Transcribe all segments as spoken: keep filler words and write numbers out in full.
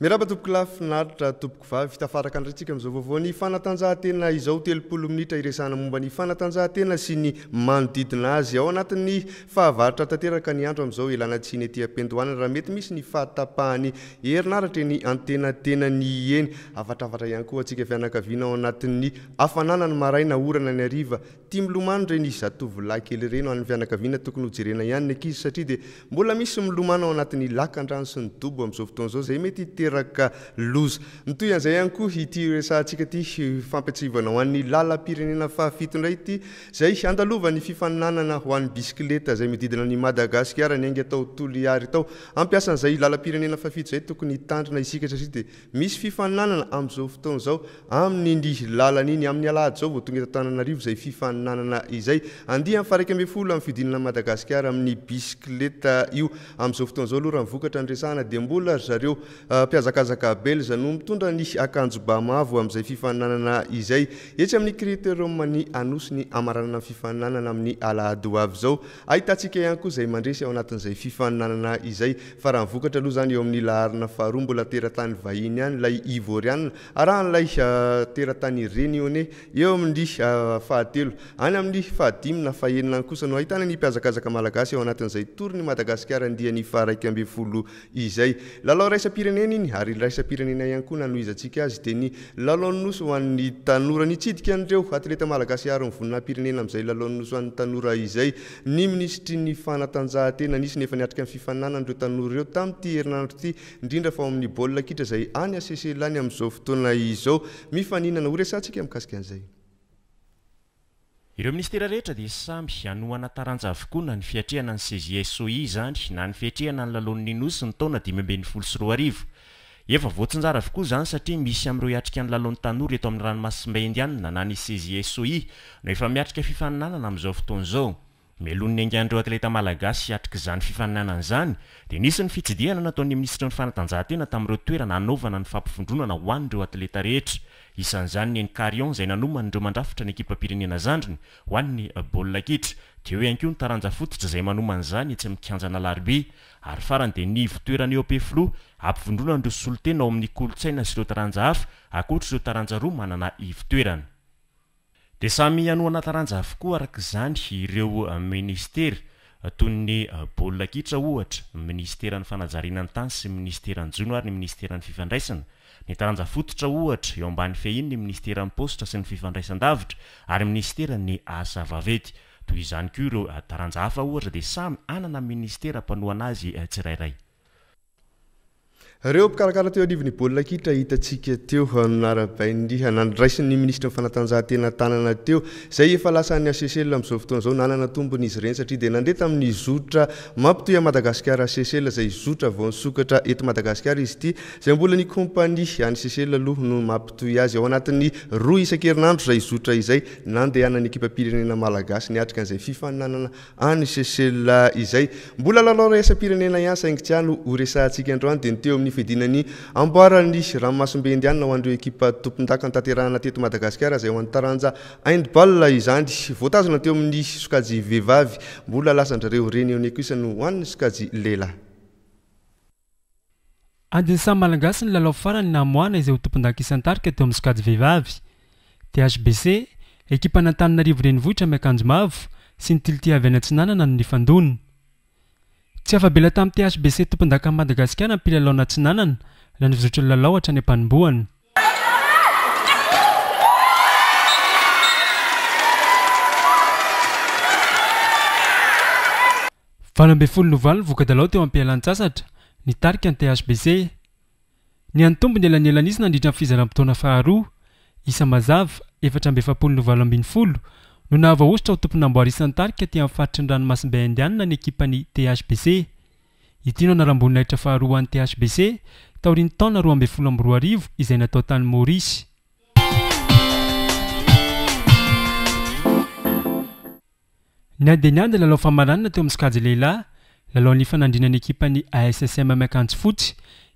Miarahaba tompoko lahy, finaritra tompoko vavy, tafaraka indray tsika amin'izao vaovao ny fanatanjahantena izao. Telopolo minitra iresahana momba ny fanatanjahantena sy ny manodidina azy. Ao anatin'ny fahavaratra tanteraka ny andro amin'izao, ilana tsiny ety am-piandohana raha mety misy ny fahatapahany herinaratra eny antenatenany eny. Afatravatra ihany koa antsika fianakaviana ao anatin'ny hafanana ny maraina, orana ny hariva. Tia milomano ireny zatovolahy kely ireny. Ho an'ny fianakaviana tokony hojerena ihany ny ankizy satria dia mbola misy milomano ao anatin'ny lakandrano sy ny dobo amin'izao fotoana izao izay mety hiteraka loza. Mitohy an'izay ihany koa ity resahantsika ity fampiatsivana ho an'ny lalam-pirenena fahafito indray ity izay andalovan'ny fifaninanana ho an'ny bisikileta izay mididina ny Madagasikara ny ainga tao Toliary tao. Ampiasan'izay lalam-pirenena fahafito izay tokony hitandrina isika satria dia misy fifaninanana amin'izao fotoana izao amin'iny lalana iny. Amin'ny alahady izao vao tonga eto Antananarivo izay fifaninanana izay andiany faha-iraika ambin'ny folo amin'ny fihodinana Madagasikara amin'ny bisikileta io. Amin'izao fotoana izao aloha raha ny vokatra ny resahana dia mbola ry zareo mpiazakazaka belza no mitondra ny akanjo ba mavo amin'izay fifaninanana izay. Etsy amin'ny Critérium ny Anosy ny amaranana ny fifaninanana amin'ny alahady ho avy izao. Ahitantsika ihany koa izay mandresy ao anatin'izay fifaninanana izay. Fa raha ny vokatra aloha izany eo amin'ny laharana faharoa mbola teratany vahiny ihany ilay Ivoriana, arahan'ilay teratany Réunionnais eo amin'ny fahatelo. Any amin'ny fahadimy na fahenina kosa no ahitana ny mpiazakazaka malagasy ao anatin'izay tour-ny Madagasikara andiany faha-iraika ambin'ny folo izay. Lalao iraisam-pirenena iny ary iraisam-pirenena ihany koa nanohizantsika azy dia ny lalaon'ny nosy ho an'ny tanora. Nitsidika an'ireo atleta malagasy ary ny voninahi-pirenena amin'izay lalaon'ny nosy ho an'ny tanora izay ny minisitry ny fanatanjahantena. Nisy nefa niatrika ny fifaninanana ireo tanora ireo tamin'ity herinandro ity, indrindra fa ao amin'ny baolina kitra izay any Seychelles any amin'izao fotoana izao. Mifaninana ho resahantsika mikasika an'izay. Ireo ministera rehetra dia samy hanohana taranja avokoa na ny fiatrehana ny C J S O I izany na ny fiatrehana ny lalaon'ny nosy ny taona dimy ambin'ny folo sy roa arivo. Efa voatsinjara avokoa izany satria misy amin'ireo hiatrika ny lalaon'ny tanora eto amin'ny ranomasimbe Indianina na ny C J S O I no efa miatrika fifaninanana amin'izao fotoana izao. Mialoha ny niaingan'ireo atleta malagasy hiatrika izany fifaninanana izany dia nisy ny fitsidihana nataon'ny minisitry ny fanatanjahantena tamin'ireo toerana hanaovana ny fampivondronana ho an'ireo atleta rehetra. Isan'izany ny eny Carion izay nanoman'ireo mandrafitra ny ekipam-pirenena zandriny ho an'ny baolina kitra. Teo ihany koa ny taranja fototra izay manomana izany etsy amin'ny kianjan'Alarobia. Ary farany dia ny ivotoerana eo Ampefiloha ampivondronana ireo solontena ao amin'ny kolontsaina sy ireo taranja hafa ankoatra ireo taranja roa manana ivotoerana. Dia samy hanohana taranja avokoa araka izany ireo ministera toy ny baolina kitra ohatra, ny ministeran'ny fanajariana ny tany sy ny ministeran'ny jono ary ny ministeran'ny fifandraisana. Ny taranja fototra ohatra eo ambany fehiny ny ministeran'ny paositra sy ny fifandraisan-davitra ary ny ministeran'ny asa vaventy. Toy izany koa ireo taranja hafa ohatra dia samy hanana ministera mpanohana azy tsirairay. Ireo mpikarakara teo anivon'ny baolina kitra hitantsika teo narabain'ny nandraisin'ny minisitry ny fanatanjahantena tanana teo izay efa lasan'ny Seychelles amin'izao fotoana izao. Nanana tombony izy ireny satria dia nandeha tamin'ny zotra mampitohy an'i Madagasikara Seychelles izay zotra vao nisokatra eto Madagasikara izy ity, izay mbola ny kompania any Seychelles aloha no mampitohy azy. Ao anatin'ny roa isan-kerinandro izay zotra izay nandehanan'ny ekipam-pirenena malagasy niatrika an'izay fifaninanana any Seychelles izay. Mbola lalao iraisam-pirenena ihany saingy tsy any ho resahantsika androany dia ny teo amin'ny fihodinany amboaran'ny ranomasimbe Indianina ho an'ireo ekipa tompondaka notanterahana teto Madagasikara izay ho an'ny taranja handball izany. Voatazona teo amin'ny sokajy vehivavy, mbola lasan-drareo Réunionnais kosa no ho an'ny sokajy lehilahy. Adin'ny samy malagasy ny lalao farany namoahana izay ho tompondaka isan-tarika teo amin'ny sokajy vehivavy. T H B C, ekipa an'Antananarivo renivohitra miakanjo mavo sy ny Tilty avy any Atsinanana no nifandona. Tsy afa-bela tamin'ny T H B C tompondaka Madagasikara ny mpilalao Atsinanana raha nizotra ny lalao hatrany am-panombohana. Valo ambin'ny folo no valo ny voka-dalao teo am-pialan-tsasatra nitarika ny T H B C. Niantombo ny elanelan'izy nandritra ny fizaram-potoana faharoa. Isa mazava efatra amby efapolo no valo ambin'ny folo no nahavoahosotra ho tompon'amboara isan-tarika teo amin'ny faritry ny ranomasimbe Indianina ny ekipan'ny T H B C. Ity no anaram-boninahitra faharoa ho an'ny T H B C taorian'ny taona roa ambin'ny folo amby roa arivo izay natao tany Maurice. Niady niady lalao famaranana teo amin'ny sokajy lehilahy, lalao nifanandrinan'ny ekipan'ny A S S M miakanjo fotsy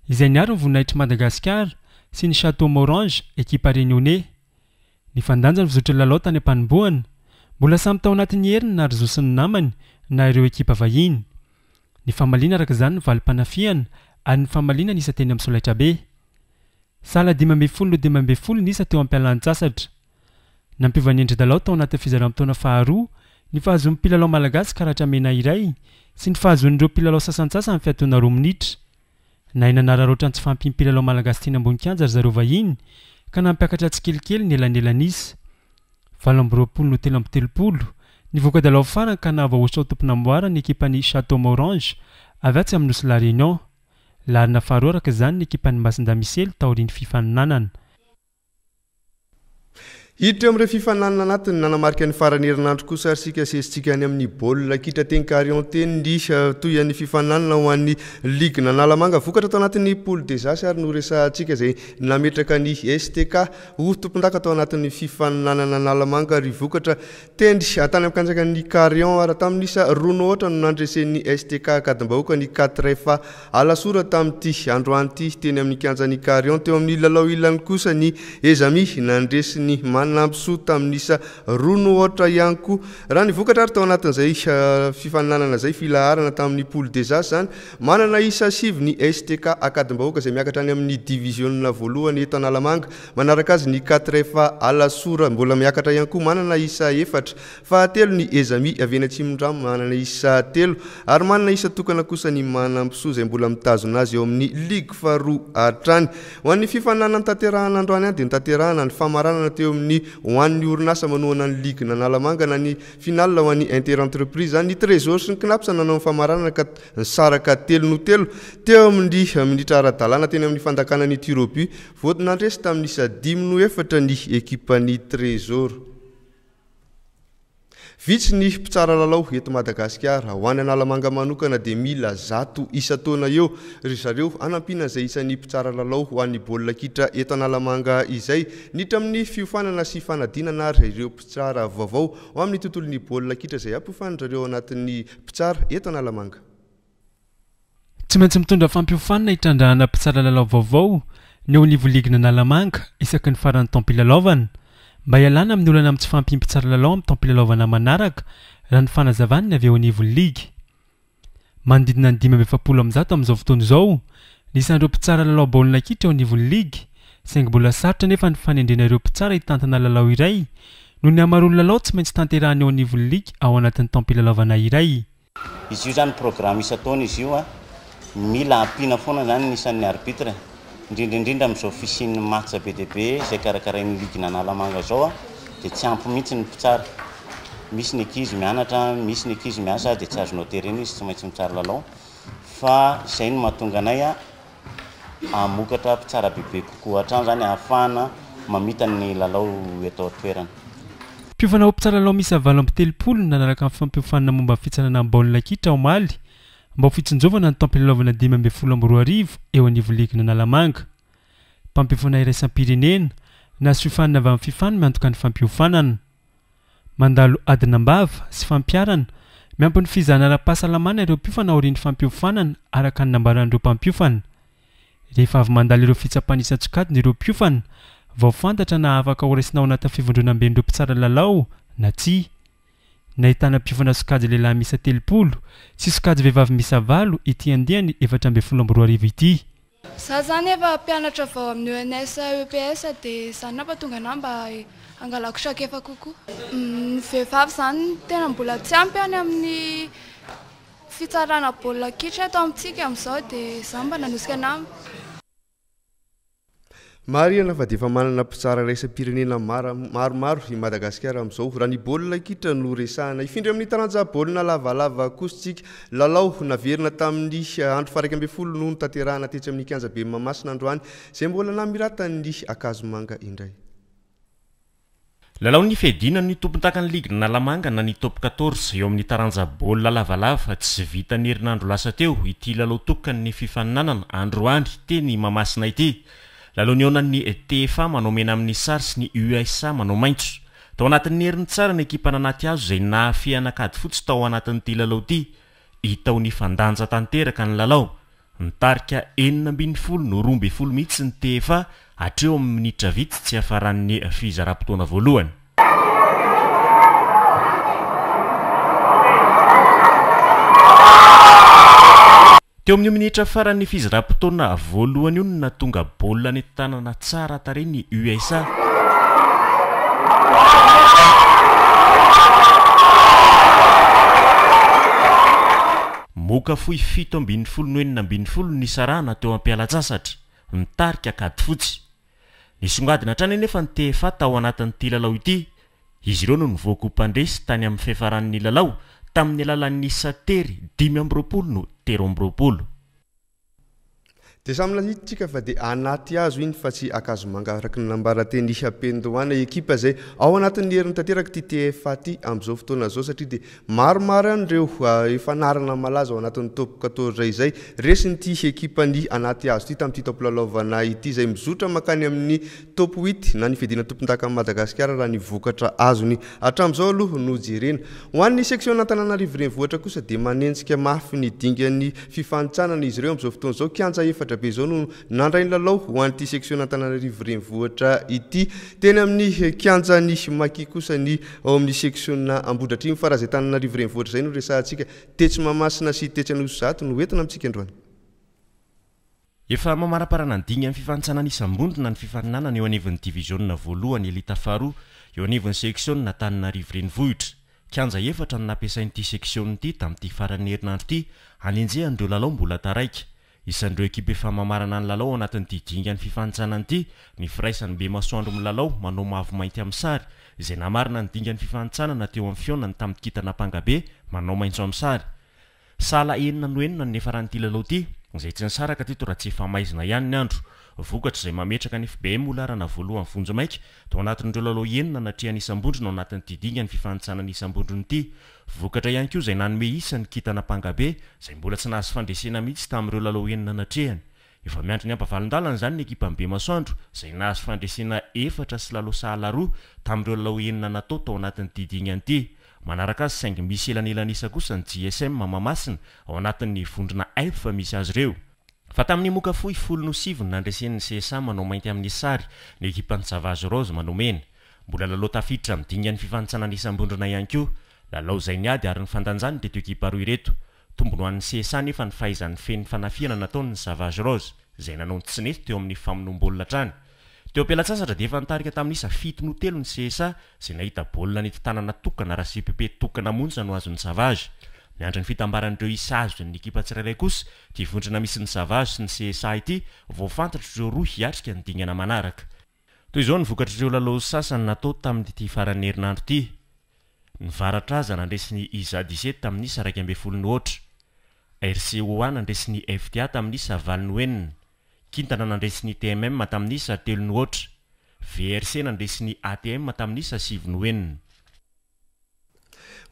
izay niaro ny voninahitr'i Madagasikara sy ny Château Morange ekipa Réunionnais. Nifandanja ny fizotry ny lalao tany am-panombohana. Mbola samy tao anatin'ny heriny na ry zo sy ny namany na ireo ekipa vahiny. Ny famaliana araka izany ny valim-panafihana ary ny famaliana ny isa teny amin'ny solaitrabe. Sahala dimy ambin'ny folo no dimy ambin'ny folo ny isa teo am-pialan-tsasatra. Nampiova ny endri-dalao tao anatin'ny fizaram-potoana faharoa ny fahazoan'ny mpilalao malagasy karatra mena iray sy ny fahazoan'ireo mpilalao sasantsasany fiatoana roa minitra. Nahay nanararaotra ny tsy fahampian'ny mpilalao malagasy teny ambony kianja ry zareo vahiny ka nampiakatra tsikelikely ny elanelan'isa. Valo amby roapolo no telo amby telopolo ny voka-dalao farany ka nahavoahosotra ho tompon'amboara ny ekipan'ny Château Morange avy atsy amin'ny Nosy La Réunion. Laharana faharoa araka izany ny ekipan'ny Masindahy Misely taorian'ny fifaninanana. Hiditra eo amin'ireo fifaninanana anatiny nanamarika ny faran'ny herinandro kosa ary isika sesitsika any amin'ny baolina kitra teny Carion teny ny toy an'ny fifaninanana ho an'ny Ligue Analamanga. Vokatra tao anatin'ny poule des As ary noresahantsika izay nametraka ny S T K ho tompondaka tao anatin'ny fifaninanana Analamanga ary vokatra tendry tany amin'ny kanjakan'ny Carion ary tamin'ny isa roa no aotra no nandresen'ny S T K Ankadimbahoaka ny quatre F Alasora tamin'ity androany ity teny amin'ny kianjan'ny Carion. Teo amin'ny lalao ilany kosa ny Ezami nandresy ny Manampisoa tamin'ny isa roa no aotra ihany koa. Raha ny vokatra ary tao anatin'izay fifaninanana izay filaharana tamin'ny poule des As zany, manana isa sivy ny S T K Ankadimbahoaka izay miakatra any amin'ny diviziona voalohany eto Analamanga. Manaraka azy ny quatre F Alasora mbola miakatra ihany koa manana isa efatra. Fahatelo ny Ezami avy eny Atsimondrano manana isa telo ary manana isa tokana kosa ny Manampisoa izay mbola mitazona azy eo amin'ny ligue faharoa hatrany. Ho an'ny fifaninanana notanterahana androany any dia notanterahana ny famaranana teo amin'ny ho an'ny orinasa manohana ny ligue Analamanga na ny finale ho an'ny inter-entreprise zany. Ny Trésor sy ny Cnaps nanao ny famaranana ka nisaraka telo no telo teo amin'ny minitra ara-dalàna teny amin'ny fandakana ny tir au but. Vao nandresy tamin'ny isa dimy no efatra ny ekipan'ny Trésor. Vitsy ny mpitsara lalao eto Madagasikara. Ho an'ny Analamanga manokana dia mila zato isan-taona eo ry zareo hanampiana izay isan'ny mpitsara lalao ho an'ny baolina kitra eto Analamanga izay. Niditra amin'ny fiofanana sy fanadinana ary ireo mpitsara vaovao ho amin'ny tontolon'ny baolina kitra izay ampiofanin-dry zareo anatin'ny mpitsara eto Analamanga. Tsy maintsy mitondra fampiofanana hitrandrahana mpitsara lalao vaovao ny eo anivon'ny ligina Analamanga isaky ny faran'ny taom-pilalaovana. Mba hialana amin'ny olana amin'ny tsy fahampian'ny mpitsara lalao amin'ny taom-pilalaovana manaraka raha ny fanazavany ny avy eo anivon'ny ligy. Manodidina ny dimy amby efapolo amby zato amin'izao fotoana izao ny isan'ireo mpitsara lalao baolina kitra eo anivon'ny ligy, saingy mbola sarotra nefa ny fanendrena ireo mpitsara hitantana lalao iray noho ny hamaroan'ny lalao tsy maintsy tanterahana eo anivon'ny ligy ao anatin'ny taom-pilalaovana iray. Izy io zany programme isan-taona izy io a, mila ampiana foana zany ny isan'ny arbitre, indrindra indrindra amin'izao fisian'ny match be dia be izay karakarain'ny ligue Analamanga izao a, dia tsy ampy mihitsy ny mpitsara. Misy ny ankizy mianatra, misy ny ankizy miasa, dia tsy azonao terena izy, tsy maintsy mitsara lalao. Fa izay no mahatonga anay a hamokatra mpitsara bebe kokoa hatrany zany ahafahana mamita ny lalao eto an-toerana. Mpiofana ho mpitsara lalao miisa valo amby telopolo nanaraka ny fampiofanana momba ny fitsanana baolina kitra omaly mba ho fitsinjovana ny taom-pilalaovana dimy ambin'ny folo amby roa arivo eo anivon'ny ligue Analamanga. Mpampiofana iraisam-pirenena nahazo fiofanana avy amin'ny fifano miantoka ny fampiofanana. Mandalo adina am-bava sy fampiharana miampy ny fizahana ara-pahasalamana ireo mpiofana aorian'ny fampiofanana araka ny nambaran'ireo mpampiofana. Rehefa avy mandalo ireo fitsapana isan-tsokajiny ireo mpiofana vao fantatra na afaka horaisina ao anatin'ny fivondronamben'ireo mpitsara lalao na tsia. Nahitana mpiofana sokajy lehilahy miisa telopolo sy sokajy vehivavy miisa valo ity andiany efatra ambin'ny folo amby roa arivo ity. Za zany efa mpianatra vao amin'ny E N S E P S dia izany nampatonga anahy mba hangalako traikefa kokoa. Ny vehivavy zany tena mbola tsy ampy any amin'ny fitsarana baolina kitra eto amintsika amin'izao dia izany mba nanosika anahy. Marihana fa dia efa manana mpitsara iraisam-pirenena mara-, maromaro i Madagasikara amin'izao. Raha ny baolina kitra no resahana, hifindra amin'ny taranja baolina lavalava kosa isika. Lalao naverina tamin'ny andro faha iraika ambin'ny folo no notanterahana tetsy amin'ny kianjabe Mahamasina androany, izay mbola namiratan'ny Ankazomanga indray. Lalao ny fiadiana ny tompontakan'ny ligue Analamanga na ny top quatorze eo amin'ny taranja baolina lavalava tsy vita ny herinandro lasa teo ity lalao tokan'ny fifaninanana androany teny Mahamasina ity. Lalao nihaonan'ny T F A manao mena amin'ny sary sy ny U S A manao maitso. Tao anatin'ny herin'ny tsara ny ekipa nanaty hazo izay nahafehy an'Ankady fotsy tao anatin'ity lalao ity. Hita ho nifandanja tanteraka ny lalao. Nitarika enina ambin'ny folo no roa ambin'ny folo mihitsy ny T F A hatreo amin'ny minitra vitsy tsy hafaran'ny fizaram-potoana voalohany. Teo amin'ny minitra faran'ny fizaram-potoana voalohany io no nahatonga baolina nentin-tanana tsara tarehy ny U S A. Moka fohy fito ambin'ny folo no enina ambin'ny folo nisarahana teo am-pialan-tsasatra, nitarika kady fotsy. Nisongadina hatrany anefa ny T F A tao anatin'ity lalao ity. Izy ireo no nivoaka ho mpandresy tany amin'ny fiafaran'ny lalao tamin'ny alalan'ny isa tery dimy amby roapolo no telo amby roapolo. Dia samy nahitsika fa dia anaty hazo iny fa tsy Ankazomanga araka ny nambara teny Ampendohana ekipa izay ao anatin'ny herin'ny tanteraka ity T F A ity amin'izao fotoana izao satria dia maromaro ihany ireo, ah, efa anarana malaza ao anatin'ny top quatorze izay resin'ity ekipan'ny anaty hazo ity tamin'ity taom-pilalaovana ity izay mizotra mankany amin'ny top huit na ny fiadiana tompondakan'i Madagasikara raha ny vokatra azony hatramin'izao aloha no jerena. Ho an'ny section Antananarivo Renivohitra kosa dia manenjika mafy ny dingan'ny fifanintsanana izy ireo amin'izao fotoana izao. Kianja efatra be izao no nandray ny lalao ho an'ity section Antananarivo Renivohitra ity. Teny amin'ny kianjan'ny Maki kosa ny ao amin'ny section Ambohidratrimo fa raha izay Antananarivo Renivohitra izay no resahantsika tetsy Mahamasina sy tetsy Anosizato no entina amintsika androany. Efa mamaraparana ny dingan'ny fifanintsanana isam-bondrona ny fifaninanana eo anivon'ny diviziona voalohany elita faharoa eo anivon'ny section Antananarivo Renivohitra. Kianja efatra no nampiasain'ity section ity tamin'ity faran'ny herinandro ity hanenjehan'ireo lalao mbola taraiky. Isan'ireo ekipa efa mamarana ny lalao ao anatin'ity dingan'ny fifanintsanana ity ny firaisan'ny Bemasoandro milalao manao mavo mainty amin'ny sary izay namarina ny dingan'ny fifanintsanana teo amin'ny fihaonany tamin'ny kintana Ampangabe manao maitso amin'ny sary. Sahala enina no enina ny niafaran'ity lalao ity izay tsy nisaraka teto raha tsy efa maizina ihany ny andro. Vokatra izay mametraka ny F B M ho laharana voalohany vonjimaika tao anatin'ireo lalao enina natrehan'ny isam-bondrona ao anatin'ity dingan'ny fifanintsanana isam-bondrona ity. Vokatra ihany koa izay nanome isa ny kintana Ampangabe izay mbola tsy nahazo fandresena mihitsy tamin'ireo lalao enina natrehany. Efa miandry ny ampavalon-dalana izany ny ekipan'ny Bemasoandro izay nahazo fandresena efatra sy lalao sahala roa tamin'ireo lalao enina natao tao anatin'ity dingana ity. Manaraka azy saingy misy elanelan'isa kosa ny J S M Mahamasina ao anatin'ny vondrona F misy azy ireo. Fa tamin'ny moka fohy folo no sivy no nandresen'ny C S A manao mainty amin'ny sary ny ekipan'ny Savage Rose manao mena. Mbola lalao tafiditra amin'ny dingan'ny fifanintsanana isam-bondrona ihany koa. Lalao izay niady ary ny fandanjany ireto ekipa roa ireto. Tombony ho an'ny C S A nefa ny fahaizan'ny feno fanafihana nataon'ny Savage Rose izay nanao ny tsy nety teo amin'ny famonoam-baolina hatrany. Teo am-pialan-tsasatra dia efa nitarika tamin'ny isa fito no telo ny C S A izay nahita baolina nety tanana tokana raha C P P tokana monja no azon'ny Savage. Miandry ny fitambaran'ireo isa azon'ny ekipa tsirairay kosa ity vondrona misy ny Savage sy ny C S A ity vao fantatr'ireo roa hiatrika ny dingana manaraka. Toy izao ny vokatr'ireo lalao sasany natao tamin'ity faran'ny herinandro ity. Ny Varatraza nandresy ny I Z A D C tamin'ny isa iraika ambin'ny folo no aotra. R C O A nandresy ny F T A tamin'ny isa valo no enina. Kintana nandresy ny T M M tamin'ny isa telo no aotra. V R C nandresy ny A T M tamin'ny isa sivy no enina.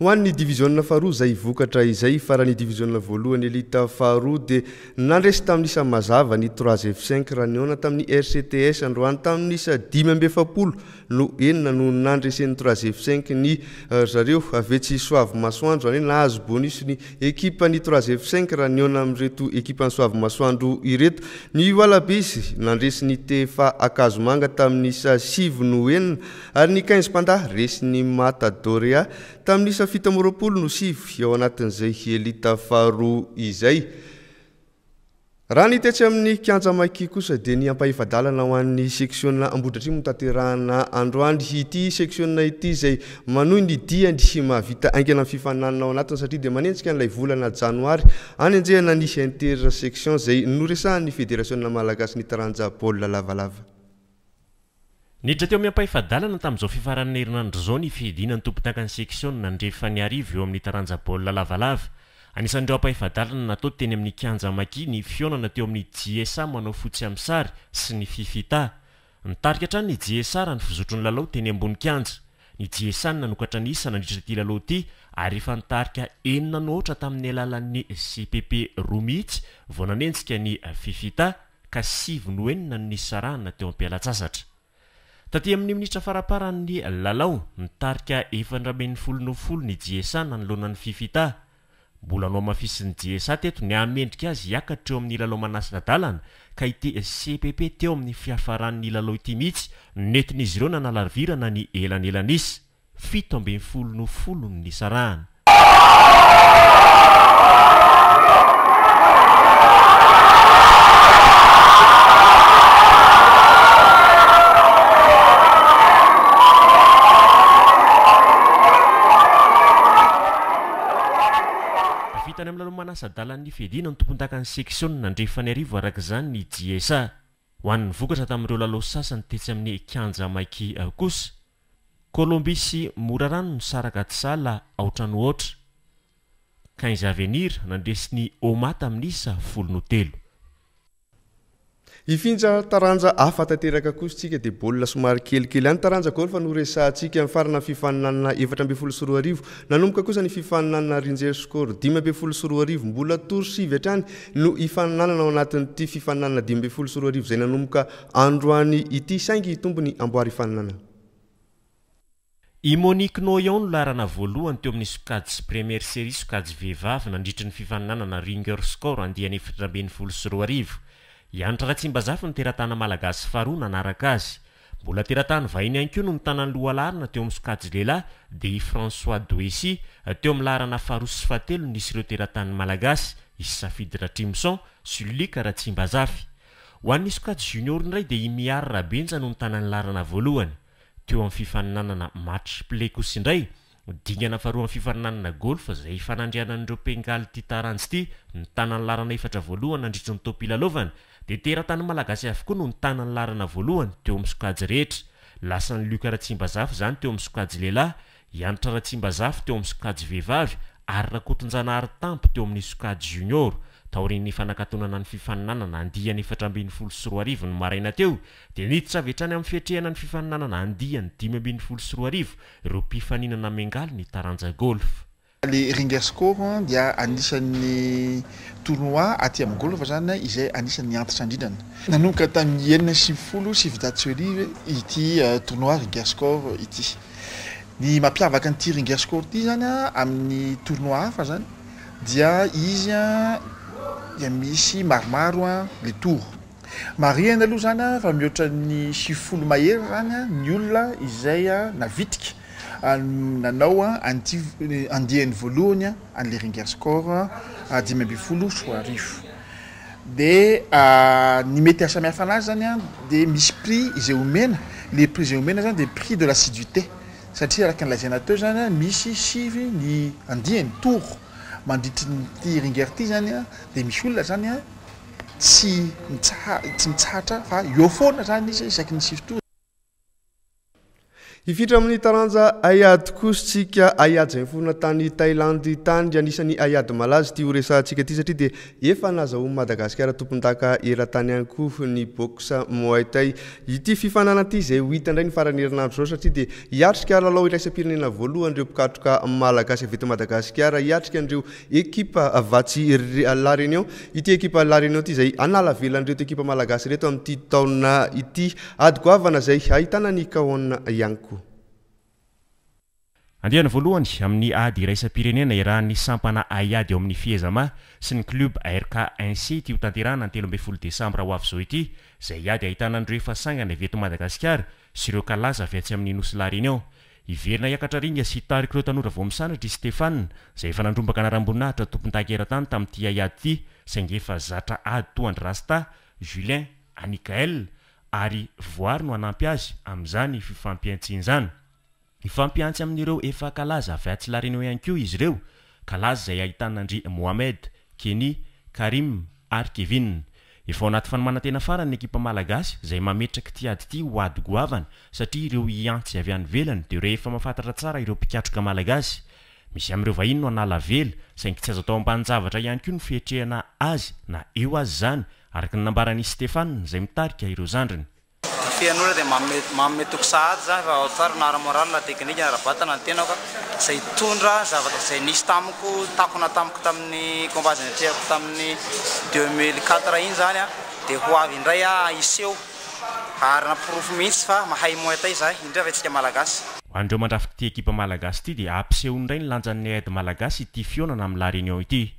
Ho an'ny diviziona faharoa izay vokatra izay farany diviziona voalohany elita faharoa dia nandresy tamin'ny isa mazava ny trois F cinq raha nihaona tamin'ny R C T S androany tamin'ny isa dimy amby efapolo no enina no nandresen'ny trois F cinq ny, eh, zareo avy etsy Soavimasoandro, izany hoe nahazo bonus ny ekipan'ny trois F cinq raha nihaona amin'ireto ekipan'ny Soavimasoandro ireto. Ny Wallabies nandresy ny T F A Ankazomanga tamin'ny isa sivy no enina ary ny quinze Panda resy ny Matadorea tamin'ny isa fito amby roapolo no sivy ao anatin'izay elita faharoa izay. Raha ny tetsy amin'ny kianja Maki kosa dia ny ampahefa-dalana ho an'ny seksiona Ambohidratrimo no tanterahana androany. Ity seksiona ity izay manohy ny diany mahavita haingana ny fifaninanana ao anatiny satria dia manenjika an'ilay volana janoary anenjehana ny intersection izay noresahan'ny Federasiona Malagasy ny taranja baolina lavalava. Niditra teo amin'ny ampahefa-dalana tamin'izao fifaran'ny herinandro izao ny fiadiana ny tompondakan'ny seksiona Andrefan'Iarivo eo amin'ny taranja baolina lavalava. Anisan'ireo ampahefa-dalana natao teny amin'ny kianja Maki ny fihaonana teo amin'ny J S A manao fotsy amin'ny sary sy ny Fifita. Nitarika hatrany ny J S A raha ny fizotry ny lalao teny ambony kianja. Ny J S A no nanokatra ny isa nandritra ity lalao ity ary efa nitarika enina no aotra tamin'ny alalan'ny C P P roa mihitsy vao nanenjika ny Fifita ka sivy no enina no nisarahana teo am-pialan-tsasatra. Taty amin'ny minitra faramparan'ny lalao, nitarika efatra ambin'ny folo no folo ny J S A nanoloana ny Fifita. Mbola nohamafisin'ny J S A teto ny hahamendrika azy hiakatra eo amin'ny lalao manasa-dalana ka ity C P P teo amin'ny fiafaran'ny lalao ity mihitsy nentin'izy ireo nanalavirana ny elanelan'isa. Fito ambin'ny folo no folo no nisarahana. manasa-dalan'ny fiadiana ny tompondakan'ny seksiona Andrefanarivo araka izany ny J S A. Ho an'ny vokatra tamin'ireo lalao sasany tetsy amin'ny kianja Maiky kosa, Colombie sy Morarano nisaraka tsy sahala aotra no aotra. Quinze Avenir nandresy ny Oma tamin'ny isa folo no telo. Hifindra taranja hafa tanteraka kosa tsika, dia baolina somary kelikely any, taranja golf no resahantsika. Mifarana fifaninanana efatra ambin'ny folo sy roa arivo, nanomboka kosa ny fifaninanana Ringer Score dimy ambin'ny folo sy roa arivo. Mbola tour sivy hatrany no ifaninanana ao anatin'ity fifaninanana dimy ambin'ny folo sy roa arivo izay nanomboka androany ity, saingy tompony amboary ifaninanana. I Monique Noyon no laharana voalohany teo amin'ny sokajy première série, sokajy vehivavy, nandritry ny fifaninanana Ringer Score andiany efatra ambin'ny folo sy roa arivo. Ianitra Ratsimbazafy ny teratany malagasy faharoa nanaraka azy. Mbola teratany vahiny ihany koa no mitana ny lohalaharana teo amin'ny sokajy lehilahy, dia i François Doessy. Teo amin'ny laharana faharoa sy fahatelo nisy ireo teratany malagasy, i Safidy Ratrimson sy Lika Ratsimbazafy. Ho an'ny sokajy junior indray dia i Miary Rabenja no mitana ny laharana voalohany. Teo amin'ny fifaninanana match play kosa indray, dingana faharoa amin'ny fifaninanana golf izay fanandrianan'ireo mpiangaly ty taranja ity, mitana ny laharana efatra voalohany nandritry ny taom-pilalaovana, dia teratany malagasy avokoa no nitana ny laharana voalohany teo amin'ny sokajy rehetra. Lasan'ny Luka Ratsimbazafy izany teo amin'ny sokajy lehilahy, Ianitra Ratsimbazafy teo amin'ny sokajy vehivavy ary Rakotonjanahary Tampo teo amin'ny sokajy junior. Taorian'ny fanakatonana ny fifaninanana andiany efatra ambin'ny folo sy roa arivo ny maraina teo, dia niditra avy hatrany amin'ny fiatrehana ny fifaninanana andiany dimy ambin'ny folo sy roa arivo ireo mpifaninana miangaly ny taranja golf. Le Ringer Score dia anisan'ny tournoi aty amin'ny golf zany izay anisan'ny antitra indrindrana. Nanomboka tamin'ny enina sivifolo sivinjato sy arivo ity tournoi Ringer Score ity. Ny mampiavaka an'ity Ringer Score ity zany a amin'ny tournoi hafa zany dia izy a dia misy maromaro a le tour. Marihana aloha zany a fa mihoatra ny sivifolo mahery zany a ny olona izay a navitrika nanao a an'ity andiany voalohany a an'le Ringer Score dimy amby folo sy roa arivo. De ny mety ahasamihafa anazy zany a de misy prix izay omena. Le prix izay omena zany de prix de l'assiduité, satria araka nylazaina teo zany a misy sivy ny andiany, tour, mandritry ty Ringer ty zany a de misy olona zany a tsy mitsa tsy mitsahatra fa eo foana zany izy isaky ny sivy tour. Hifindra amin'ny taranja haiady kosa tsika, haiady izay miforona tany Tailandy tany. Anisan'ny haiady malaza ty horesahantsika ty satria dia efa nazahoan'i Madagasikara tompon-daka eran-tany ihany koa ny boxe Muay Thai. Ity fifaninanana ity izay ho hita indray ny farany herinandro zao, satria dia hiatrika lalao iraisam-pirenena voalohany ireo mpikatroka malagasy avy eto Madagasikara, hiatrika an'ireo ekipa vatsy La Réunion. Ity ekipa La Réunion ity izay anala velan'ireto ekipa malagasy reto amin'ity taona ity. Ady goavana izay ahitana ny kaona ihany koa. Andiany voalohany amin'ny ady iraisam-pirenena iarahan'ny sampana haiady eo amin'ny Fiezama sy ny club R K un C ity ho tanterahana ny telo ambin'ny folo desambra ho avy izao ity, izay ady ahitana an'ireo efa sangany avy eto Madagasikara sy ireo kalaza avy atsy amin'ny nosy La Réunion. Hiverina hiakatra ringa sy hitarika ireo tanora vao misandratra i Stéphane, izay efa nandrombaka anaram-boninahitra tompon-daka eran-tany tamin'ity haiady ity, saingy efa zatra ady toa an-dry Rasta, Julien, Anikael ary Voary no hanampy azy amin'izany fifampiantsiana izany. Ifampiantsy amin'ireo efa kalaza avy atsy La Réunion ihany koa izy ireo, kalaza izay ahitana an-dry Mohamed, Kenny, Karim ary Kevin. Efa ao anaty fanomanantena farany ny ekipa malagasy izay mametraka ity ady ity ho ady goavana, satria ireo hiantsy avy any ivelany dia rehefa mahafantatra tsara ireo mpikatroka malagasy. Misy amin'ireo vahiny no anala vela, saingy tsy azo atao ambanin-javatra ihany koa ny fiatrehana azy na eo azy izany, araka ny nambaran'i Stéphane izay mitarika ireo zandriny. Fian'olona dia manome manome toky sahady zany fa ao tsara na ara-moral na teknika na ara-batana ny tenako izay hitondra zavatra izay nisy tamiko, takona tamiko tamin'ny combat izay natrehako tamin'ny deux mille quatre iny zany a dia ho avy indray a hiseho ary naporofo mihitsy fa mahay Muay Thai zahay, indrindra fa antsika malagasy. Ho an'ireo mandrafitra ity ekipa malagasy ity dia hampiseho indray ny lanjan'ny haiady malagasy ity fihaonana amin'ny La Réunion ity.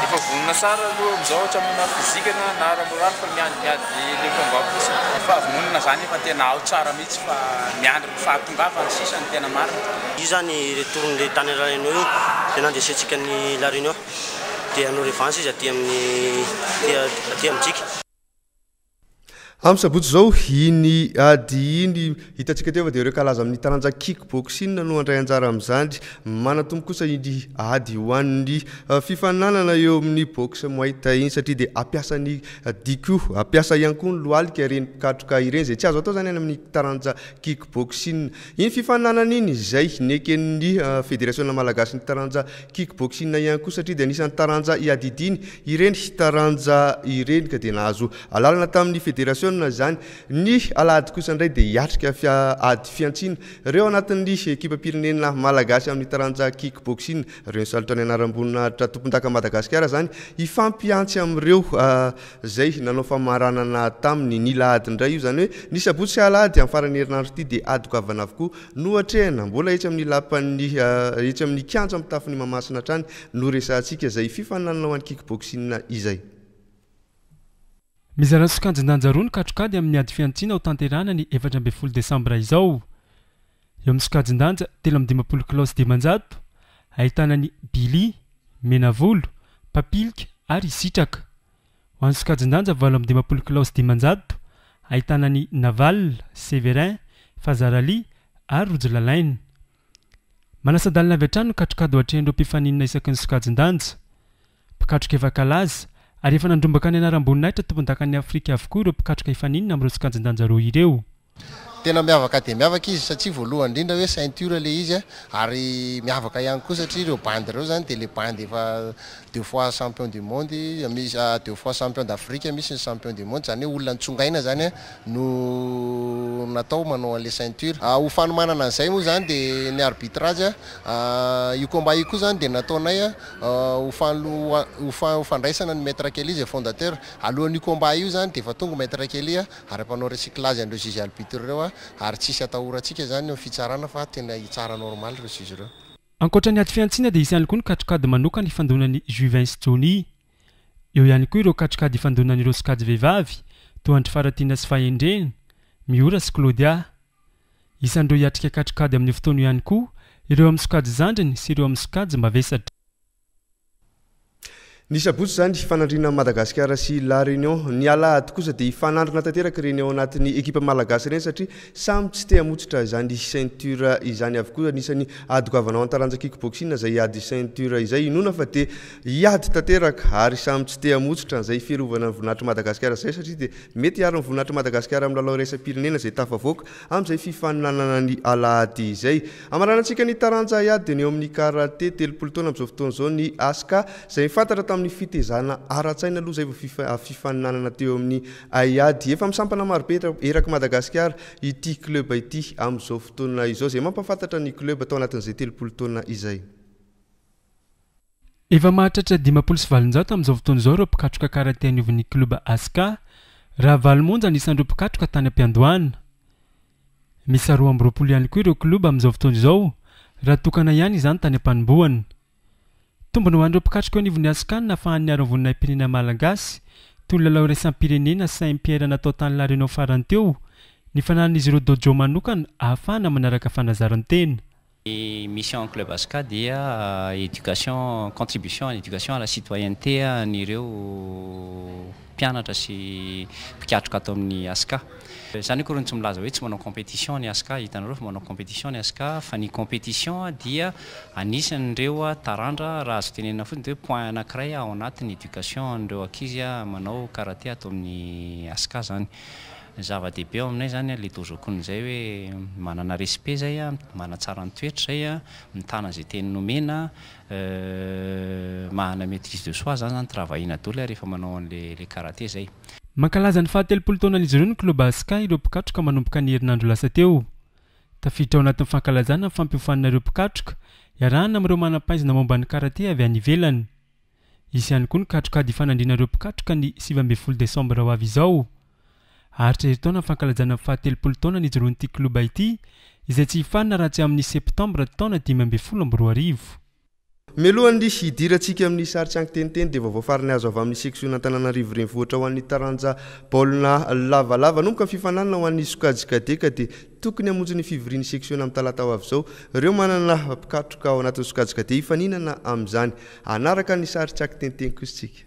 Efa vonona tsara aloha amizao hatramin'ny physique na na ara-moral fa miandry miady le combat fotsiny. Fahavononana zany efa tena ao tsara mihitsy fa miandry ny fahatongavany sisa ny tena marina. Io zany retour le tany La Réunion io dia nandesentsika ny La Réunion, dia hanao revanche izy aty amin'ny aty amintsika. Amin'ny sabotsy izao iny ady iny, hitantsika teo fa dia ireo kalaza amin'ny taranja kickboxing no handray anjara amin'izany. Manatombo kosa iny ady ho an'ny fifaninanana eo amin'ny boxe muay thai iny, satria dia ampiasa ny diko, ampiasa ihany koa ny lohalika ireny mpikatroka ireny, izay tsy azo atao izany any amin'ny taranja kickboxing. Iny fifaninanana iny izay neken'ny federasiona malagasy ny taranja kickboxing ihany koa, satria dia anisan'ny taranja iadidiny ireny taranja ireny, ka dia nahazo alalana tamin'ny federasiona izany. Ny alahady kosa indray dia hiatrika fia-, ady fihantsiana ireo anatin'ny ekipam-pirenena malagasy amin'ny taranja kickboxing, ireo nisalotra ny anaram-boninahitra tompondaka Madagasikara izany, hifampiantsy amin'ireo, ah, izay nanao famaranana taminy. Ny lahady indray io, izany hoe ny sabotsy sy alahady amin'ny faran'ny herinandro ity, dia ady goavana avokoa no atrehina. Mbola etsy amin'ny lapan'ny, ah, etsy amin'ny kianja mitafon'ny Mahamasina hatrany no resahantsika izay fifaninanana ho an'ny kickboxing izay. Mizara sokajin-danja roa ny katrokady amin'ny ady fihantsiana ho tanterahana ny efatra ambin'ny folo desambra izao. Eo amin'ny sokajin-danja telo amby dimampolo kilao sy dimanjato, ahitana ny Billy, Menavolo, Papilika ary Sitraka. Ho an'ny sokajin-danja valo amby dimampolo kilao sy dimanjato, ahitana ny Naval, Severin, Fazarali ary Rojolalaina. Manasa-dalana avy hatrany ny katrokady ho atrehin'ireo mpifaninana isaky ny sokajin-danja. Mpikatroka efa kalaza ary efa nandrombaka ny anaram-boninahitra tompondakan'ny Afrika avokoa ireo mpikatroka hifaninana amin'ireo sokajin-danja roa ireo. Tena miavaka dia miavaka izy, satria voalohany indrindra hoe ceinture le izy, ary miavaka ihany koa satria ireo bandy ireo zany dia le bandy efa deux fois champion du monde, misy, ah, deux fois champion d'Afrique, misy ny champion du monde, zany hoe olona nitsongaina zany no natao manao an'le ceinture. Ah, ho fanomanana an'izay moa zany dia ny arbitrage, ah, io combat io koa zany dia nataonay, ah, ho fanlo-, ho fa-, ho fandraisana ny maître Kelly izay fondateur. Alohan'io combat io zany dia efa tonga maître Kelly, ary mpanao recyclage an'ireo juge arbitre ireo, ary tsisy atahorantsika zany ny fitsarana fa tena hitsara normal ireo juge ireo. Ankoatra ny ady fihantsiana dia hisy ihany koa ny katrokady manokana ifandonan'ny Juvin sy Johnny. Eo ihany koa ireo katrokady ifandonan'ireo sokajy vehivavy toa an-dry Faratiana sy Fahendrena, Miora sy Claudia. Isan'ireo hiatrika katrokady amin'ny fotoana io ihany koa ireo amin'ny sokajy zandriny sy ireo amin'ny sokajy mavesatra. Ny sabotsy izany hifanandrina Madagasikara sy La Réunion. Ny alahady kosa dia hifanandrina tanteraka ireny ao anatin'ny ekipa malagasy ireny, satria samy tsy te hamotsitra izany ceinture izany avokoa. Anisan'ny ady goavana ao an-taranja kickboxing izay ady ceinture izay, inoana fa dia hiady tanteraka ary samy tsy te hamotsitra izay fiarovana ny voninahitry Madagasikara izay, satria dia mety hiaro ny voninahitry Madagasikara amin'ny lalao iraisam-pirenena izay tafavoaka amin'izay fifaninanana ny alahady izay. Amaranantsika ny taranja ady dia ny eo amin'ny karate. Telopolo taona amin'izao fotoana izao ny Aska, izay fantatra tamin'ny fitezana ara-tsaina aloha izay vao fifa-, fifaninanana teo amin'ny haiady. Efa misampana marobe eraky Madagasikara ity club ity amin'izao fotoana izao, izay mampahafantatra ny club tao anatin'izay telopolo taona izay. Efa mahatratra dimampolo sy valonjato amin'izao fotoana izao ireo mpikatroka karate anivon'ny club Aska, raha valo monja ny isan'ireo mpikatroka tany am-piandohana. Misy roa amby roapolo ihany koa ireo club amin'izao fotoana izao, raha tokana ihany izany tany am-panombohana. Tombony ho an'ireo mpikatroka eo anivon'ny Aska ny nahafahan'ny niaro ny voninahi-pirenena malagasy, toy ny lalao iraisam-pirenena Saint-Pierre natao tany La Réunion farany teo, ny fananan'izy ireo dojo manokana ahafahana manaraka fanazaran-tena. Ny mission Club Aska dia éducation, contribution à l'éducation à la citoyenneté an'ireo mpianatra sy mpikatroka ato amin'ny Aska. Izany akory tsy milaza hoe tsy manao compétition ny Aska, hitanareo fa manao compétition ny Aska, fa ny compétition dia anisan'ireo tarandra, raha azo tenenina fotsiny dia hoe point anankiray ao anatin'ny éducation an'ireo ankizy manao karate ato amin'ny Aska zany. Ny zava-dehibe ao aminay zany le dojo-kon'izay hoe manana respect zay, manatsara ny toetra zay, mitana izay teny nomena, manana maîtrise de soi zany zany travaillena daholo rehefa manao an'le le karate zay. Mankalaza ny fahatelopolo taonan'izy ireo ny club Aska ireo mpikatroka manomboka ny herinandro lasa teo. Tafiditra ao anatin'ny fankalazana ny fampiofanana ireo mpikatroka iarahana amin'ireo manam-pahaizana momba ny karate avy any ivelany. Hisy ihany koa ny katrokady ifanandriana ireo mpikatroka ny sivy ambin'ny folo desambra ho avy izao. Haharitra herintaona ny fankalazana ny fahatelopolo taona nijoroan'ity club ity, izay tsy hifarana raha tsy amin'ny septambra taona dimy ambin'ny folo amby roa arivo. Mialohan'ny hidirantsika amin'ny sary tsy ankiteniteny dia vaovao farany azo avy amin'ny section Antananarivo renivohitra ho an'ny taranja baolina lavalava. Nanomboka ny fifaninanana ho an'ny sokajy cadet ka dia tokony hamonjy ny fivorian'ny section amin'ny talata ho avy izao ireo manana mpikatroka ao anatin'ny sokajy cadet hifaninana amin'izany. Hanaraka ny sary tsy ankiteniteny kosa isika.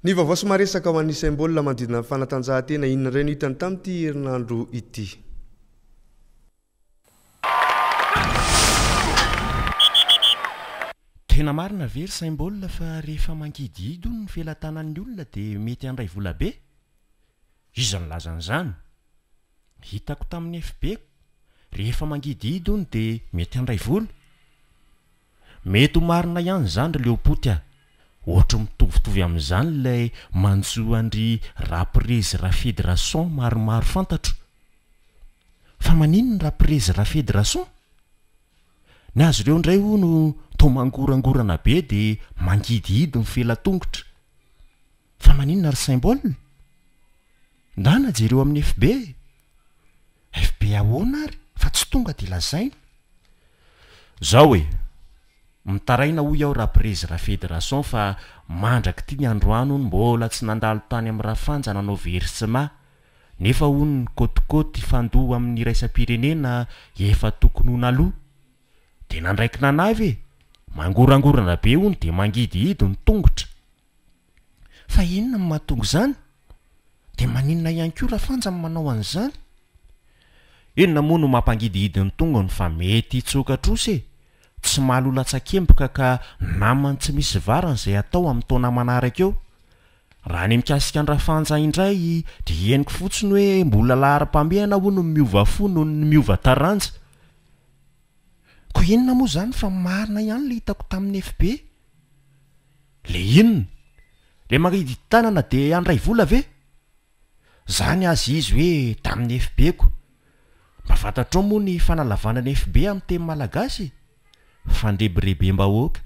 Ny vaovao sy maresaka ho an'ny Saimbaolina manodidina ny fanatanjahantena, inona indray no hitany tamin'ity herinandro ity? Tena marina ve ry Saimbaolina fa rehefa mangidihidy hono ny felatanan'ny olona dia mety handray vola be? Iza nilaza an'izany? Hitako tamin'ny F B-ko, rehefa mangidihidy hono dia mety handray vola. Mety ho marina ihany izany ry Leopoty a! Ohatry mitovitovy amin'izany ilay manjo an-dry Raprezy Rafidy Rason maromaro fantatro. Fa maninona Raprezy Rafidy Rason? Ny azy ireo indray hono toa mangorangorana be dia mangidihidy ny fela-tongotra. Fa maninona ry Symbole? Ndana jereo amin'ny F B e! F B ahoana ary fa tsy tonga dia lazaina? Zao e! Mitaraina hoy aho Raprezy Rafederason fa mandrak'ity ny androany hono mbola tsy nandalo tany amin'ny Rafanja nanao versement nefa hono ny kôtikôty fandoa amin'ny iraisam-pirenena efa tokony ho naloa. Dia nandraiky nanavy e! Mangorangorana be hono dia mangidihidy ny tongotra. Fa inona no mahatonga izany? Dia maninona ihany koa Rafanja no manao an'izany? Inona moa no mampangidihidy ny tongony fa mety hitsoka trosa e! Tsy mahalola-tsakemboka ka namany tsy misy varany izay atao amin'ny taona manaraka eo. Raha ny mikasika an-dRafanja indray dia henoko fotsiny hoe mbola laharam-pahamehana hono ny miova fo noho ny miova taranja. Koa inona moa izany fa marina ihany ilay hitako tamin'ny F B? Le inona? Le mangidy tanana dia handray vola ve? Zany aza izy hoe tamin'ny F B-ko. Mba fantatrao moa ny fanalavana ny F B amin'ny teny malagasy? Fandrebirebem-bahoaka.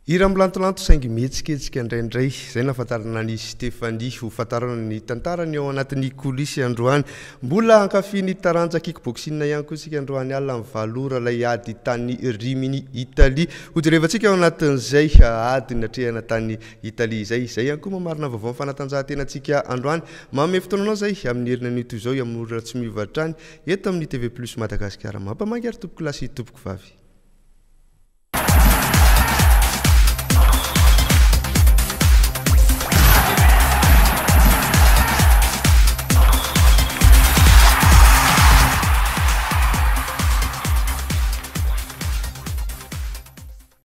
Hira milantolanto saingy mihetsiketsika indraindray. Izay nahafantarana an'i Stéphanie ho fantarana ny tantarany ao anatin'ny coulisses androany. Mbola hankafy ny taranja kickboxing ihany koa isika androany alina amin'ny valo ora ilay ady tany Rimini, Italie. Hojerevantsika ao anatin'izay ady natrehana tany Italie izay. Izay ihany koa mamarina vaovao ny fanatanjahantenantsika androany. Manome fotoana anao izay amin'ny heriny anio toy izao amin'ny ora tsy miova hatrany eto amin'ny T V Plus Madagasikara. Mampamangy ary tompoko lahy sy tompoko vavy.